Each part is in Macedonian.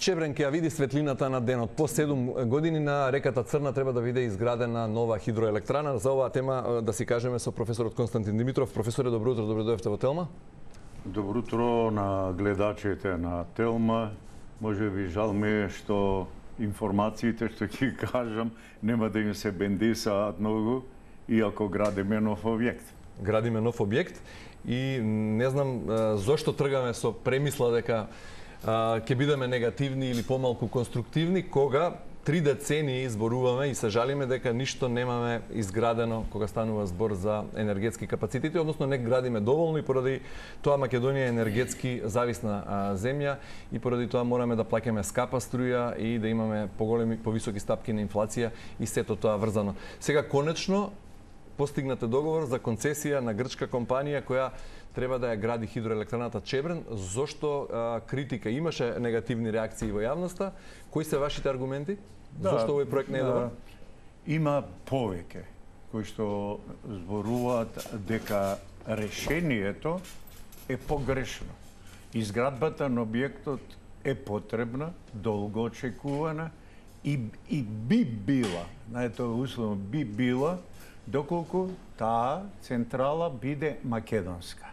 Чебрен ќе ја види светлината на денот. По 7 години на реката Црна треба да биде изградена нова хидроелектрана. За оваа тема да си кажеме со професорот Константин Димитров. Професоре, добро утро, добро дојдовте во Телма. Добро утро на гледачите на Телма. Може би жал ми е што информациите што ќе кажам нема да им се бендисаат многу, иако градиме нов објект. Градиме нов објект и не знам зошто тргаме со премисла дека ќе бидеме негативни или помалку конструктивни, кога 3 децении изборуваме и се жалиме дека ништо немаме изградено кога станува збор за енергетски капацитети, односно не градиме доволно и поради тоа Македонија е енергетски зависна земја и поради тоа мораме да плаќаме скапа струја и да имаме повисоки стапки на инфлација и сето тоа врзано. Сега конечно постигнате договор за концесија на грчка компанија која треба да ја гради хидроелектраната Чебрен. Зошто критика? Имаше негативни реакции во јавноста. Кои се вашите аргументи? Зошто овој проект не е добар? Има повеќе кои што зборуваат дека решението е погрешно. Изградбата на објектот е потребна, долго очекувана и би била, знаете, условно би била, доколку таа централа биде македонска.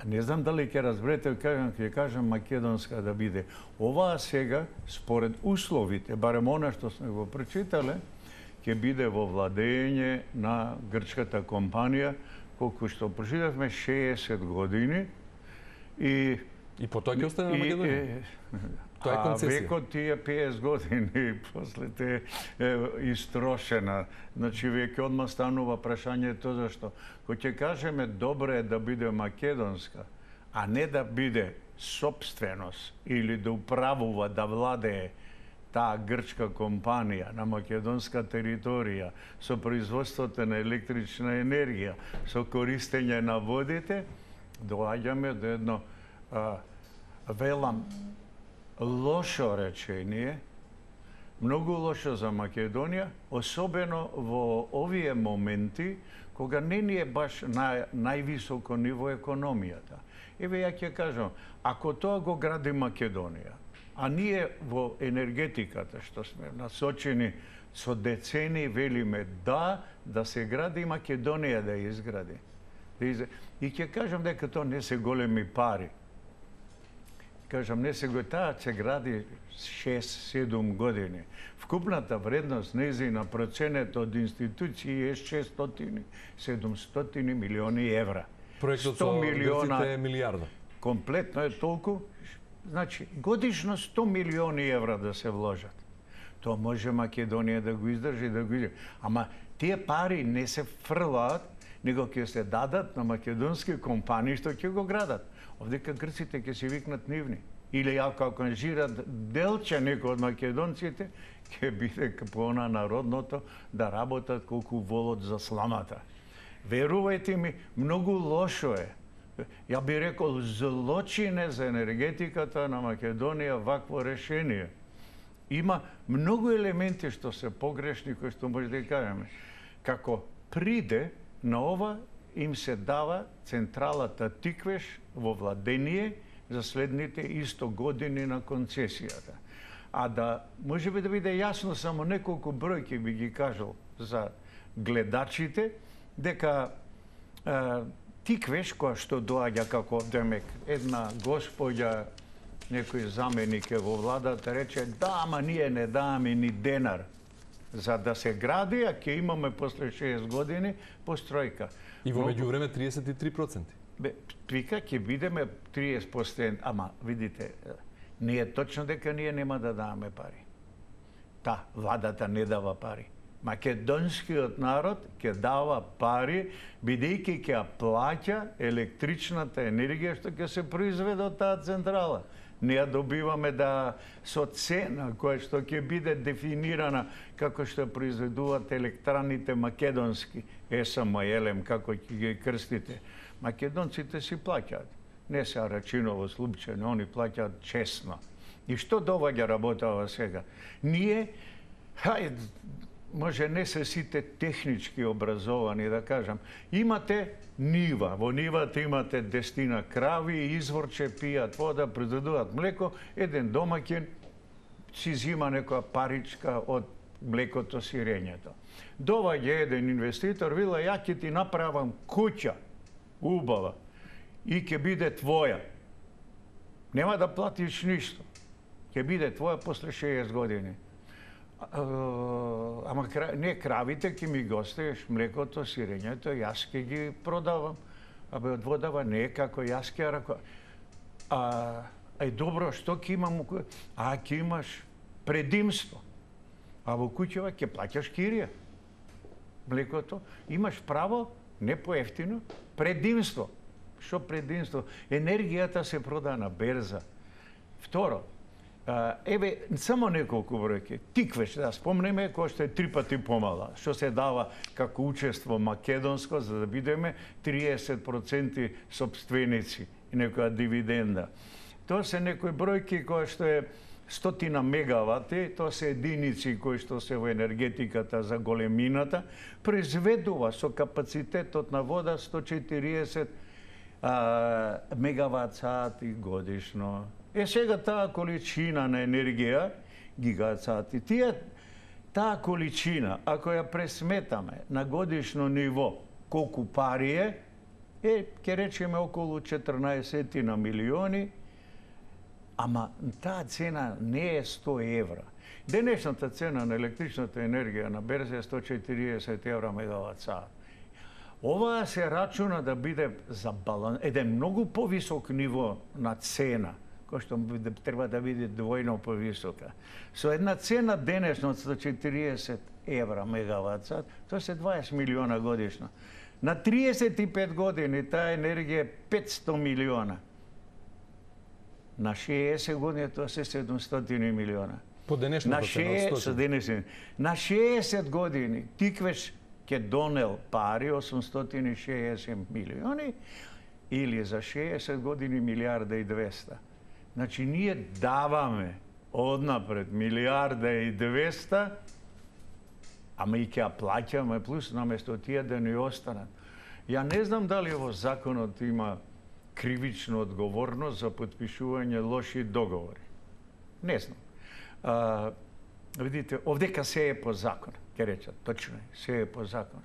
Не знам дали ќе разберете, ќе кажам македонска да биде. Оваа сега, според условите, барем она што сме го прочитале, ќе биде во владење на грчката компанија, колку што прочитавме 60 години и по тоа ќе остане на Македонија. Тоа е концесија. Векот тие 50 години после те истрошена. Значи веќе одма станува прашањето зашто. Кој ќе кажеме добре е да биде македонска, а не да биде собственост или да управува, да владее таа грчка компанија на македонска територија со производството на електрична енергија, со користење на водите, доаѓаме до едно велам лошо речение, многу лошо за Македонија, особено во овие моменти, кога не ни е баш на највисоко ниво економијата. Еве ја ќе кажам, ако тоа го гради Македонија, а ние во енергетиката, што сме насочени со децении, велиме да се гради Македонија да изгради. И ќе кажам дека тоа не се големи пари. Кажам, не се го таа се гради 6-7 години. Вкупната вредност нејзина проценета од институции е 600-700 милиони евра. Проектот со грците е милиарда. Комплетно е толку. Значи, годишно 100 милиони евра да се вложат. Тоа може Македонија да го издржи, да го издржи. Ама тие пари не се фрлаат, него ќе се дадат на македонски компании што ќе го градат. Овдека грците ќе се викнат нивни. Или ако анжират делче некој од македонците, ќе биде по она народното да работат колку волот за сламата. Верувајте ми, многу лошо е. Ја би рекол злочине за енергетиката на Македонија вакво решение. Има многу елементи што се погрешни, кои што може да кажеме. Како приде на ова им се дава централата Тиквеш во владение за следните 100 години на концесијата. А да може би да биде јасно, само неколку бројки би ги кажал за гледачите, дека Тиквеш, која што доаѓа како демек една господја, некој заменик е во владата, рече да, ама ние не даваме ни денар за да се гради, а ќе имаме после 6 години постројка. И во меѓувреме 33%. Вика ќе бидеме 30%, ама видите, не е точно дека ние нема да даваме пари. Владата не дава пари. Македонскиот народ ќе дава пари, бидејќи ќе ја плаќа електричната енергија што ќе се произведе од таа централа. Не ја добиваме со цена која што ќе биде дефинирана како што произведуваат електраните македонски, ЕСМ, како ќе ги крстите. Македонците си плаќаат. Не се рачиново случајно, они плаќаат честно. И што доваѓа работава сега? Ние, може не се сите технички образовани, да кажам. Имате нива, во нивата имате 10 крави, изворче, пијат вода, произведуваат млеко, еден домаќин си зима некоја паричка од млекото, сирењето. Доваѓа еден инвеститор, вела, ја ќе ти направам куќа, убава, и ќе биде твоја. Нема да платиш ништо. Ќе биде твоја после 60 години. Ама не, кравите ќе ми го оставиш, млекото, сирењето, јас ќе ги продавам. Абе, од водава не е како јас ќе рако. Добро, што ќе имам? Ќе имаш предимство. А во куќава ќе плаќаш кирија. Млекото, имаш право, не поевтино, предимство. Што предимство? Енергијата се прода на берза. Второ, еве, само неколку бројки. Тиквеш, да спомнеме, кој што е 3 пати помала, што се дава како учество македонско, за да бидеме 30% собственици и некоја дивиденда. Тоа се некои бројки кои што е 100 мегавати, тоа се единици кои што се во енергетиката за големината, произведува со капацитетот на вода 140 мегават сати годишно. Сега таа количина на енергија, гигават сати, таа количина, ако ја пресметаме на годишно ниво, колку пари е, ќе речеме околу 14 на милиони, ама таа цена не е 100 евра. Денешната цена на електричната енергија на берза е 140 евра мегават сат. Ова се рачуна да биде за еден многу повисок ниво на цена, кој што треба да биде двојно повисока. Со една цена денешна од 140 евра мегават сат, тоа се 20 милиона годишно. На 35 години таа енергија е 500 милиона. На 60 години тоа се 700 милиона. По денешната цена, на 60 години Тиквеш ќе донел пари 860 милиони или за 60 години милиарда и 200. Значи, ние даваме однапред милиарда и 200, ама и ќе ја плаќаме плюс наместо тие да ни останат. Ја не знам дали во законот има кривична одговорност за подпишување лоши договори. Не знам. Видите, овдека се е по закон, ќе речат, точно е, се е по закон.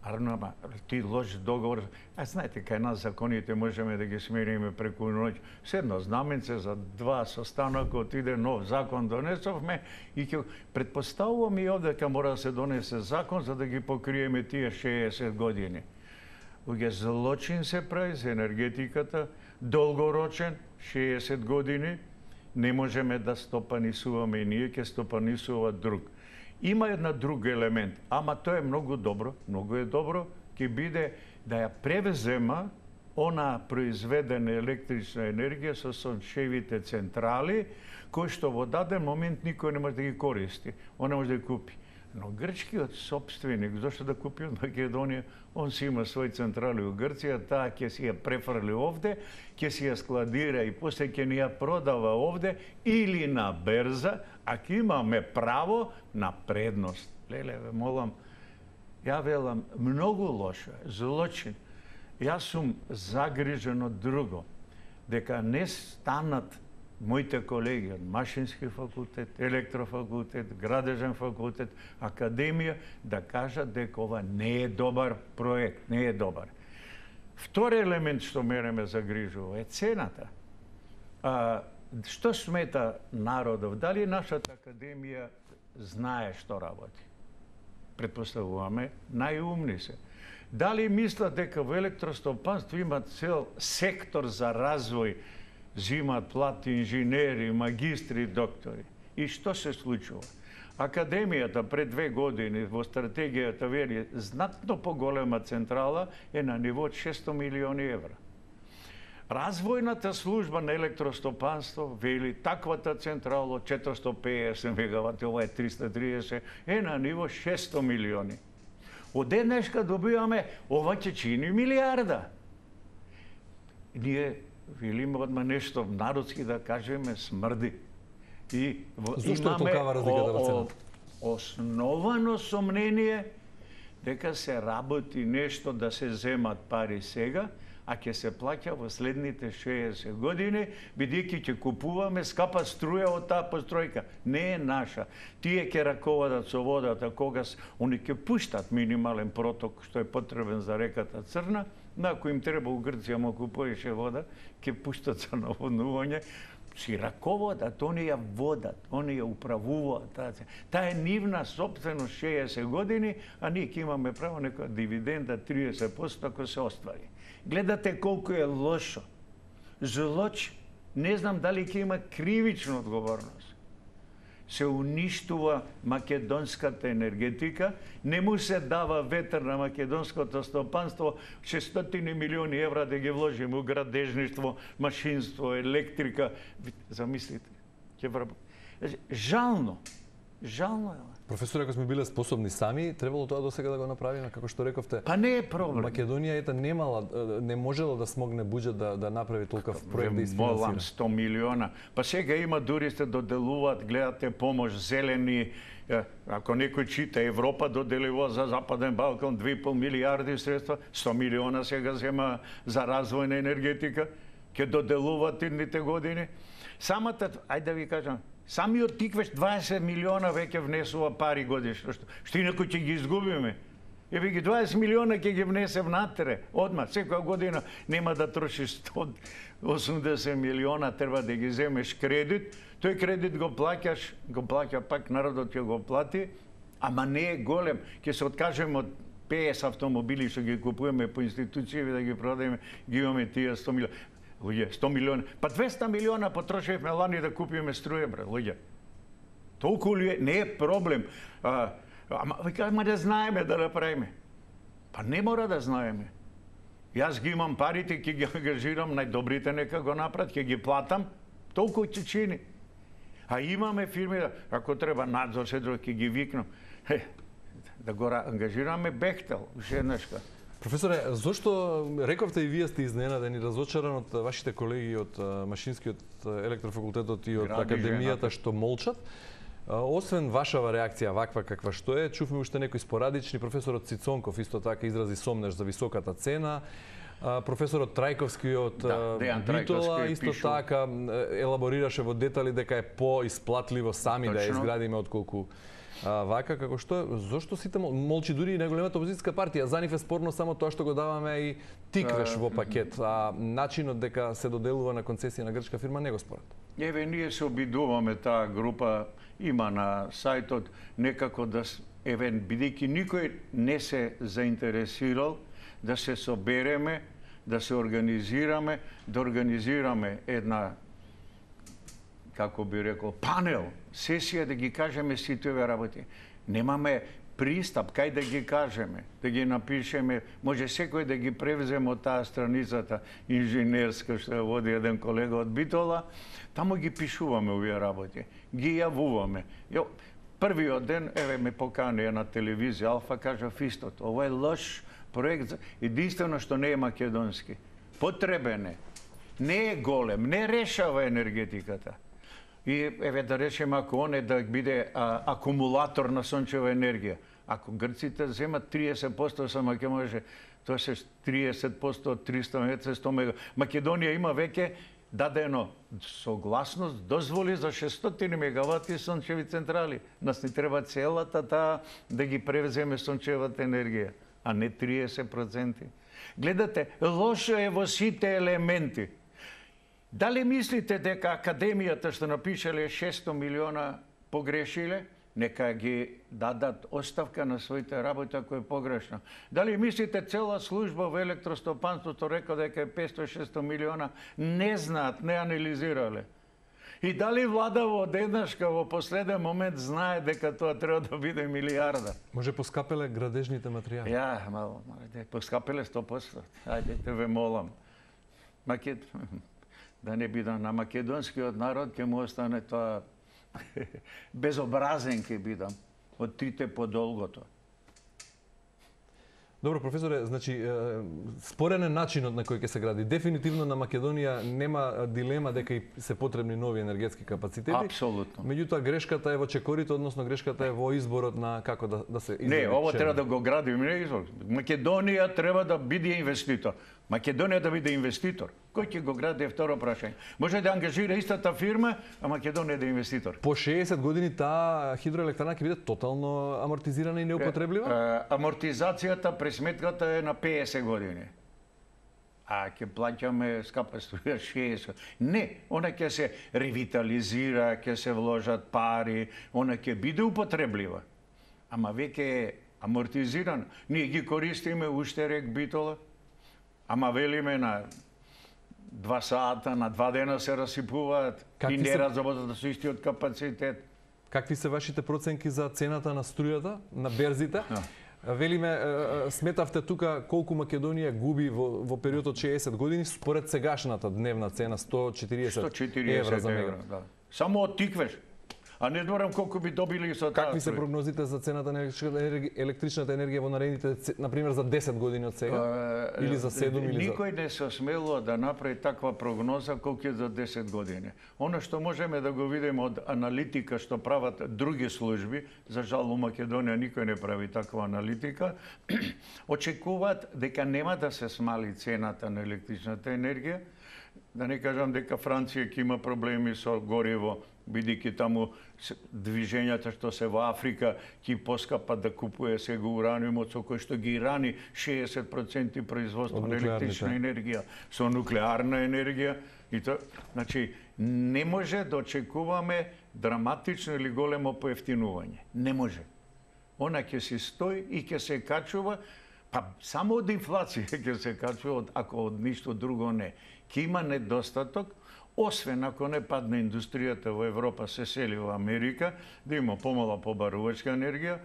Ама ти лош договор, знаете, кај нас законите можеме да ги смениме преку ноќ. С едно знаменце за 2 состанока отиде нов закон донесовме и ќе претпоставувам и овдека мора да се донесе закон за да ги покриеме тие 60 години. Уге злочин се прави за енергетиката, долгорочен, 60 години, не можеме да стопанисуваме и ние, ќе стопанисува друг. Има една друг елемент, ама тоа е многу добро, ќе биде да ја превзема она произведена електрична енергија со сончевите централи, кои што во даден момент никој не може да ги користи, он не може да ги купи. Но грчкиот собственик, зашто да купи од Македонија, он си има своји централи во Грција, таа ќе си ја префрли овде, ќе си ја складира и после ќе ни ја продава овде или на берза, а ќе имаме право на предност. Леле, ве молам, ја велам, многу лошо, злочин. Јас сум загрижен од друго, дека не станат моите колеги од Машински факултет, Електрофакултет, Градежен факултет, Академија, да кажат дека ова не е добар проект, не е добар. Втори елемент што мене ме загрижува е цената. Што смета народов? Дали нашата Академија знае што работи? Предпоставуваме, најумни се. Дали мислат дека во електростопанство има цел сектор за развој, зимат плати инженери, магистри, доктори? И што се случува? Академијата пред 2 години во стратегијата вели знатно поголема централа е на ниво од 600 милиони евра. Развојната служба на електростопанство вели таквата централа од 450 мегавати, ова е 330, е на ниво 600 милиони. Од денешка добиваме, ова ќе чини милиарда. Ние велиме одма нешто народски да кажеме смрди. Зошто е толкава разликата во цената? основано сомнение дека се работи нешто да се земат пари сега, а ќе се плаќа во следните 60 години, бидејќи ќе купуваме скапа струја од таа постројка. Не е наша. Тие ќе раководат со водата, когаш они ќе пуштат минимален проток што е потребен за реката Црна, но ако им треба у Грција малку поише вода, ќе пуштат за наводнување. Си раководат, они ја водат, они ја управуваат. Таа е нивна собственост 60 години, а ние ќе имаме право нека дивиденда 30% ако се оствари. Гледате колку е лошо. Злоч, не знам дали ќе има кривична одговорност. Се уништува македонската енергетика, не му се дава ветер на македонското стопанство, 600 милиони евра да ги вложиме у градежништво, машинство, електрика. Замислите, ќе врабо. Жално. Жално е. Професоре, ако сме биле способни сами, требало тоа досега да го направиме, како што рековте. Па не е проблем. Македонија не можела да смогне буџет да направи толков проект да изфинансира. Молам 100 милиона. Па сега има дури се доделуваат, гледате помош зелени. Ако некој чита, Европа доделува за Западен Балкан 2,5 милиарди средства, 100 милиона сега зема за развој на енергетика, ќе доделуваат идните години. Самата, ајде да ви кажам, самиот тиквеш 20 милиона веќе внесува пари годишно, што инаку ќе ги изгубиме. Еве ги 20 милиона ќе ги внесе внатре, одма, секоја година нема да трошиш 180 милиона, треба да ги земеш кредит, тој кредит го плаќа пак народот ќе го плати, ама не е голем, ќе се откажеме од 50 автомобили што ги купуваме по институцији да ги продадеме, ги имаме тие 100 милиона. Луѓе, 100 милиона. Па 200 милиона потрошевме лани да купиме струја, бре, луѓе. Толку ли е? Не е проблем. Ама да знаеме да направиме. Па не мора да знаеме. Јас ги имам парите, ќе ги ангажирам, најдобрите нека го направат, ќе ги платам, толку ќе чини. А имаме фирми, ако треба надзор, се друго, ќе ги викнам. Да го ангажираме Бехтел, уште еднашка. Професоре, зошто рековте и вие сте изненадени, разочаран од вашите колеги од Машинскиот електрофакултетот и од Академијата што молчат? Освен вашава реакција ваква каква што е, чувме уште некои спорадични. Професорот Цицонков исто така изрази сомнеш за високата цена. Професорот Трајковски од Битола исто така елаборираше во детали дека е поисплатливо сами да ја изградиме отколку вака, како што е, зошто сите молчи дури и најголемата опозицијска партија? За нив е спорно само тоа што го даваме и тиквеш во пакет, а начинот дека се доделува на концесија на грчка фирма не го спорат. Еве, ние се обидуваме, таа група има на сајтот, некако да, еве, бидејќи никој не се заинтересирал, да се собереме, да се организираме, да организираме една, како би рекол, панел, сесија да ги кажеме сите овие работи. Немаме пристап, кај да ги кажеме, да ги напишеме, може секој да ги превземе од таа страницата инженерска што ја води еден колега од Битола, таму ги пишуваме овие работи, ги јавуваме. Првиот ден, еве, ме покани на телевизија Алфа, кажа истото, ова е лош проект, единствено што не е македонски. Потребен е, не е голем, не решава енергетиката. И еве да речеме ако он е да биде акумулатор на сончева енергија. Ако грците земат 30%, само ќе може, тоа се 30% од 300 мега. Македонија има веќе дадено согласност, дозволи за 600 мегавати сончеви централи. Нас ни треба целата таа да ги превземе сончевата енергија, а не 30%. Гледате, лошо е во сите елементи. Дали мислите дека Академијата што напишале 600 милиона погрешиле? Нека ги дадат оставка на своите работи ако е погрешно. Дали мислите цела служба во електростопанството река дека е 500-600 милиона? Не знаат, не анализирале. И дали влада во еднашка во последен момент знае дека тоа треба да биде милиарда? Може поскапеле градежните материјали? Мало, поскапеле 100%. Ајде, те ве молам. Да не бидам на македонскиот народ, ќе му остане тоа безобразен ќе бидам од трите по долгото. Добро, професоре, значи спорен е начинот на кој ќе се гради. Дефинитивно на Македонија нема дилема дека и се потребни нови енергетски капацитети. Апсолутно. Меѓутоа грешката е во чекорите, односно грешката е во изборот на како да се избере. Не, ово треба да го градиме, не избор. Македонија треба да биде инвеститор. Македонија да биде инвеститор. Кој ќе го гради е второ прашање. Може да ангажира истата фирма, а Македонија да е инвеститор. По 60 години таа хидроелектрана ќе биде тотално амортизирана и неупотребливаа? Амортизацијата, пресметката е на 50 години. А ќе плаќаме скапа струја 60. Не, она ќе се ревитализира, ќе се вложат пари, она ќе биде употреблива. Ама веќе е амортизирана. Ние ги користиме уште рек Битола, ама велиме на 2 сата, на 2 дена се расипуваат и не разработат со истиот капацитет. Какви се вашите проценки за цената на струјата на берзите? Велиме, сметавте тука колку Македонија губи во период од 60 години според сегашната дневна цена 140 евра за мега. Да. Само оттиквеш. А не зборам колку би добили со таа. Какви се прогнозите за цената на електричната енергија во наредните, например, за 10 години од сега? Или за 7 или за... Никој не се осмелува да направи таква прогноза колку е за 10 години. Оно што можеме да го видиме од аналитика што прават други служби, за жал во Македонија никој не прави таква аналитика, очекуваат дека нема да се смали цената на електричната енергија, да не кажам дека Франција ќе има проблеми со гориво, бидејќи таму движењата што се во Африка ќе поскапат да купува сега ураниумот со кој што ги рани 60% производство на електрична енергија со нуклеарна енергија и тоа, значи не може да очекуваме драматично или големо поевтинување. Не може. Она ќе се стои и ќе се качува, па само од инфлација ќе се качува, ако од ништо друго не. Ќе има недостаток, освен ако не падне индустријата во Европа, се сели во Америка, да има помала побарувачка енергија.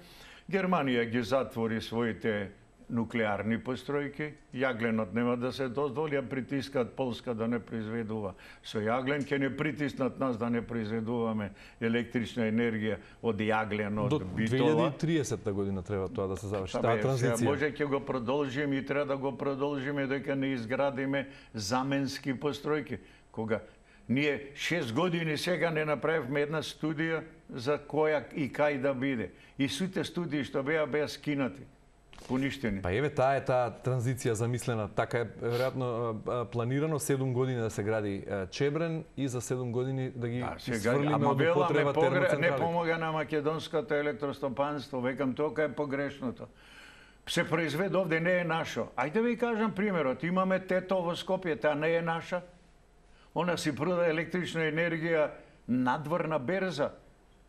Германија ги затвори своите нуклеарни постројки, јагленот нема да се дозволи, а притискат Полска да не произведува. Со јаглен ќе не притиснат нас да не произведуваме електрична енергија од јаглен, од Битола. До 2030 година треба тоа да се заврши, таа транзиција. Може ќе го продолжиме и треба да го продолжиме дека не изградиме заменски постројки. Кога ние 6 години сега не направивме една студија за која и кај да биде. И сите студии што беа скинати, поништени. Па еве таа е таа транзиција замислена. Така е веројатно планирано 7 години да се гради Чебрен и за 7 години да ги сврлиме од употреба термоцентрали. Не помога на македонското електростопанство, векам тоа е погрешното. Се произведе овде, не е нашо. Ајде ви кажам примерот, имаме ТЕТО во Скопје, таа не е наша. Она си прода електрична енергија надвор на берза.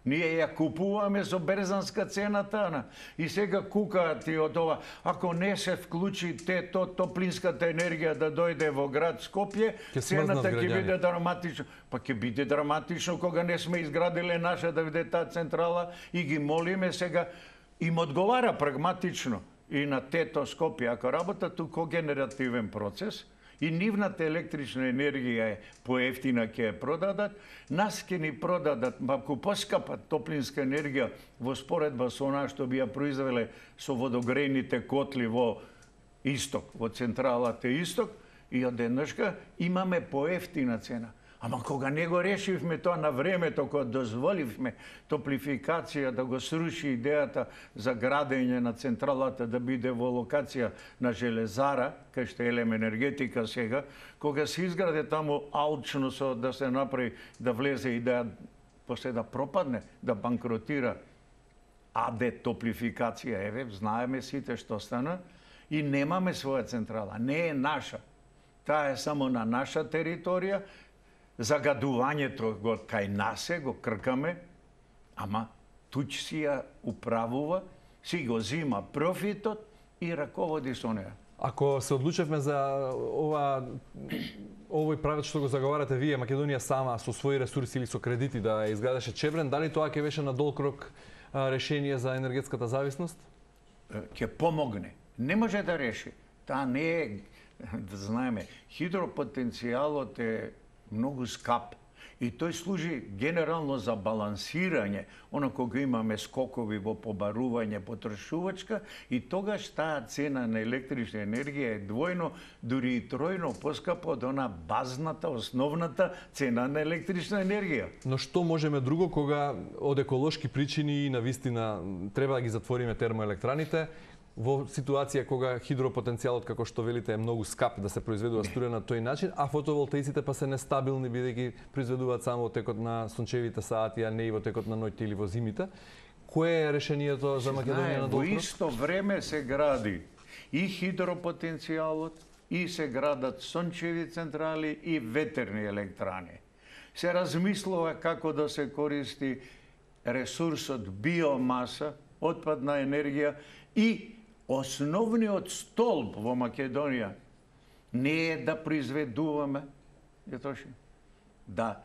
Ние ја купуваме со берзанска цена таа. И сега кукаат и од ова. Ако не се вклучи топлинската енергија да дојде во град Скопје, цената ќе биде драматично. Па ќе биде драматично кога не сме изградиле наша да биде таа централа и ги молиме сега. Им одговара прагматично и на ТЕТО Скопје. Ако работат у когенеративен процес, и нивната електрична енергија е поевтина ќе ја продадат, нас ќе ни продадат малку поскапа топлинска енергија во споредба со она што би ја произвеле со водогрејните котли во Исток, во централата Исток, и одеднашка имаме поевтина цена. Ама кога не го решивме тоа на времето, кога дозволивме топлификација да го сруши идејата за градење на централата да биде во локација на железара, кај што е Елем енергетика сега, кога се изграде таму алчно со да се направи, да влезе и да после да пропадне, да банкротира АД топлификација, еве, знаеме сите што стана, и немаме своја централа, не е наша. Таа е само на наша територија. Загадувањето го кај нас го кркаме, ама туч си ја управува, си го зима профитот и раководи со неа. Ако се одлучевме за овој правец што го заговарате вие, Македонија сама со своји ресурси или со кредити да изградеше Чебрен, дали тоа ќе беше на долг рок решение за енергетската зависност? Ќе помогне. Не може да реши. Таа не е, да знаеме, хидропотенцијалот е многу скап. И тој служи генерално за балансирање, оно кога имаме скокови во побарување потрошувачка, и тогаш таа цена на електрична енергија е двојно, дури и тројно поскапа од она базната, основната цена на електрична енергија. Но што можеме друго кога од еколошки причини и навистина треба да ги затвориме термоелектраните, во ситуација кога хидропотенцијалот, како што велите, е многу скап да се произведува струја на тој начин, а фотоволтаиците па се нестабилни бидејќи произведуваат само во текот на сончевите сати, а не и во текот на ноќите или во зимите. Кое е решението за Македонија на долг рок? Во исто време се гради и хидропотенцијалот, и се градат сончеви централи и ветерни електрани. Се размислува како да се користи ресурсот биомаса, отпадна енергија, и основниот столб во Македонија не е да произведуваме, да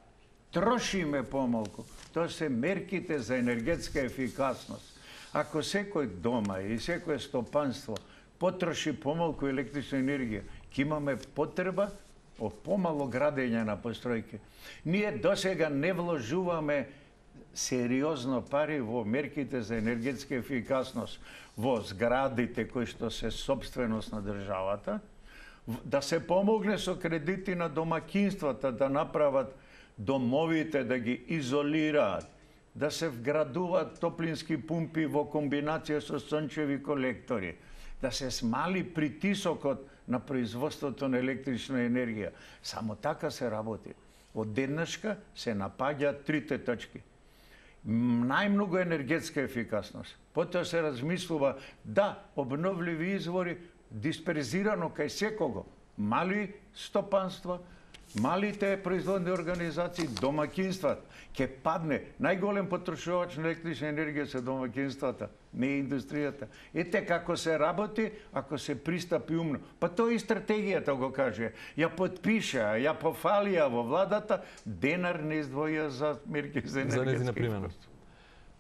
трошиме помалку. Тоа се мерките за енергетска ефикасност. Ако секој дома и секој стопанство потроши помалку електрична енергија, ќе имаме потреба од помало градење на постројки. Ние досега не вложуваме сериозно пари во мерките за енергетска ефикасност во зградите кои што се собственост на државата, да се помогне со кредити на домакинствата да направат домовите, да ги изолираат, да се вградуваат топлински пумпи во комбинација со сончеви колектори, да се смали притисокот на производството на електрична енергија. Само така се работи. Од еднашка се напаѓаат трите точки. Најмногу енергетска ефикасност. Потоа се размислува да обновливи извори дисперзирано кај секого. Мали стопанства, малите производни организации, домакинствата. Ке падне најголем потрошувач на електрична енергија се домакинствата, не индустријата. Ете како се работи ако се пристапи умно. Па тоа и стратегијата го каже. Ја подпиша, ја пофалија во владата, денар не издвоја за мерки за енергетска применост.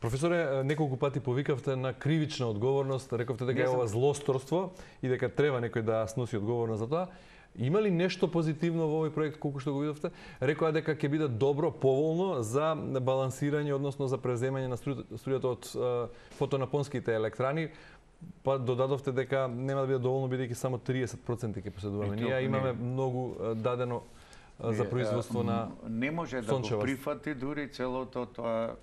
Професоре, неколку пати повикавте на кривична одговорност, рековте дека е ова злосторство и дека треба некој да сноси одговорност за тоа. Има ли нешто позитивно во овој проект, колку што го видовте? Рекоа дека ќе биде добро, поволно за балансирање, односно за преземање на струјата од фотонапонските електрани, па додадовте дека нема да биде доволно бидејќи само 30% ќе поседуваме. Ние имаме многу дадено за производство на не може да го прифати дури целото тоа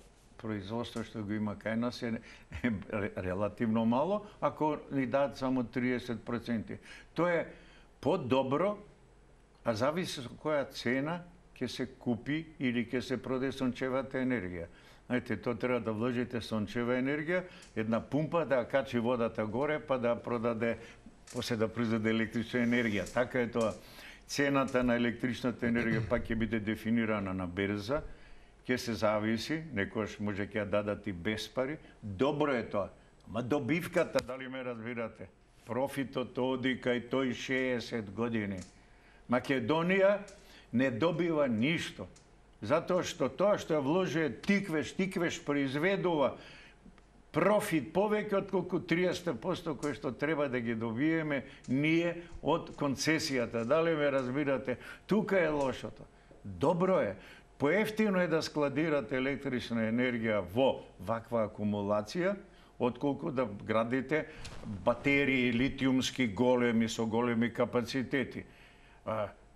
производство што го има кај нас е релативно мало, ако ни дадат само 30%. Тоа е подобро, а зависи со која цена ќе се купи или ќе се продаде сончевата енергија. Знаете, тоа треба да вложите сончева енергија, една пумпа да качи водата горе, па да продаде, после да произведе електрична енергија. Така е тоа. Цената на електричната енергија пак ќе биде дефинирана на берза, ќе се зависи, некојаш може ќе ја дадат и без пари. Добро е тоа. Ама добивката, дали ме разбирате? Профитот оди кај тој 60 години. Македонија не добива ништо. Затоа што тоа што ја вложи тиквеш произведува профит повеќе отколку 30% кои што треба да ги добиеме ние од концесијата. Дали ме разбирате? Тука е лошото. Добро е. Поевтино е да складирате електрична енергија во ваква акумулација, отколку да градите батерии литиумски големи со големи капацитети.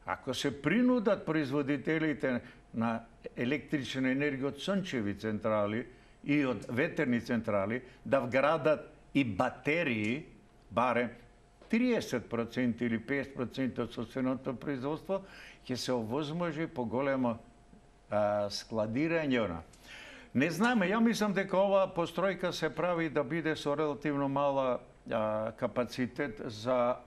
Ако се принудат производителите на електрична енергија од сончеви централи и од ветерни централи да вградат и батерии, барем 30% или 50% од собственото производство, ќе се овозможи поголемо складирање. Не знаме, ја мислам дека оваа постројка се прави да биде со релативно мала капацитет за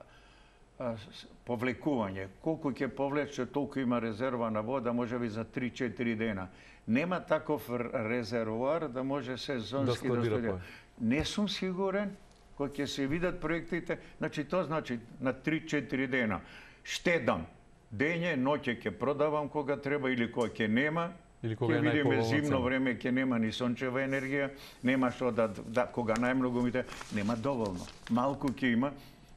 повлекување. Колку ќе повлече, толку има резерва на вода, можеби за 3-4 дена. Нема таков резервоар да може сезонски да складира. Не сум сигурен, кога ќе се видат проектите, значи тоа значи на 3-4 дена. Штедам. Дење, ноќе ќе продавам кога треба или кога ќе нема. Ќе видиме зимно време ќе нема ни сончева енергија, нема што да кога најмногу ми нема доволно. Малку ќе има.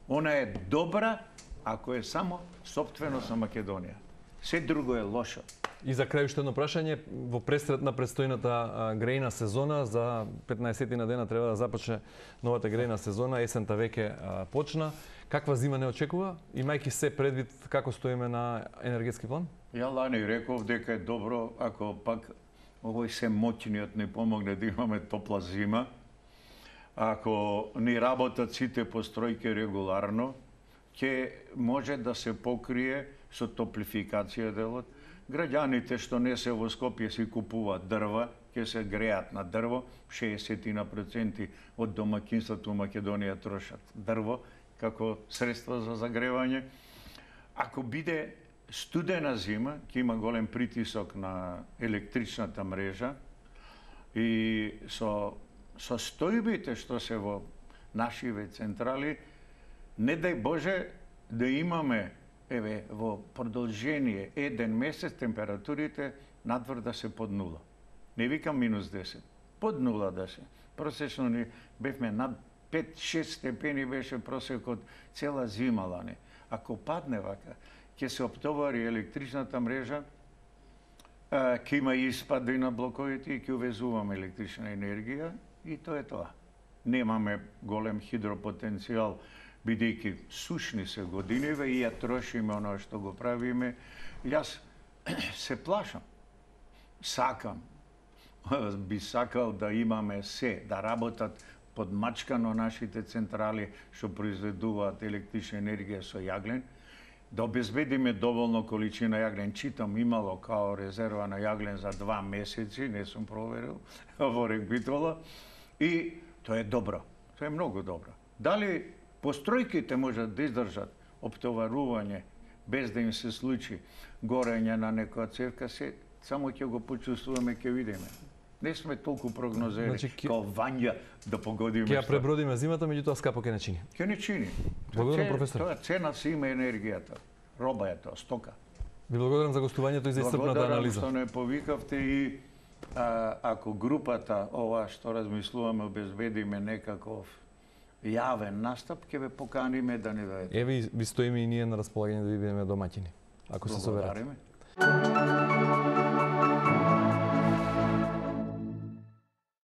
Она е добра ако е само сопственост на Македонија. Се друго е лошо. И за крај уште едно прашање, во пресред на предстојната грејна сезона, за 15 на дена треба да започне новата грејна сезона, есента веќе почна. Каква зима не очекува, имајќи се предвид како стоиме на енергетски план? Ја лани реков дека е добро ако пак овој се моќниот не помогне да имаме топла зима, ако ни работат сите постројки регуларно, ќе може да се покрие со топлификација делот. Граѓаните што не се во Скопје си купуваат дрва, ќе се греат на дрво, 60% од домаќинствата у Македонија трошат дрво како средство за загревање. Ако биде студена зима, ќе има голем притисок на електричната мрежа и со стојбите што се во нашиве централи, не дај Боже да имаме во продолжение еден месец температурите надвор да се под нула. Не викам минус 10, под нула да се. Просечно ни бевме над 5-6 степени беше просекот цела зима лани. Ако падне вака, ќе се оптовари електричната мрежа, ќе има испади на блоковите и ќе увезуваме електрична енергија и тоа е тоа. Немаме голем хидропотенцијал, бидејќи сушни се годиниве и ја трошиме оно што го правиме. Јас се плашам. Сакам. Би сакал да имаме се, да работат подмачкано нашите централи што произведуваат електрична енергија со јаглен, да обезбедиме доволно количина јаглен. Читам имало као резерва на јаглен за 2 месеци, не сум проверил во Рекбитола, и тоа е добро. Тоа е многу добро. Дали постројките можат да издржат оптоварување без да им се случи горење на некоја цевка, се само ќе го почувствуваме, ќе видиме. Не сме толку прогнозери, значи, као Вања да погодиме. Ќе ја пребродиме зимата, меѓутоа скапо ќе не чини. Ќе не чини. Благодарам, професор. Тоа цена си има енергијата. Роба е тоа, стока. Ви благодарам за гостувањето и за исцрпната анализа. Благодарам што не повикавте и ако групата ова што размислуваме обезбедиме некаков јавен настап, ќе ве поканиме да ни дојдете. Еве ви стоиме и ние на располагање да ви бидеме домаќини, ако се соберете. Благодариме.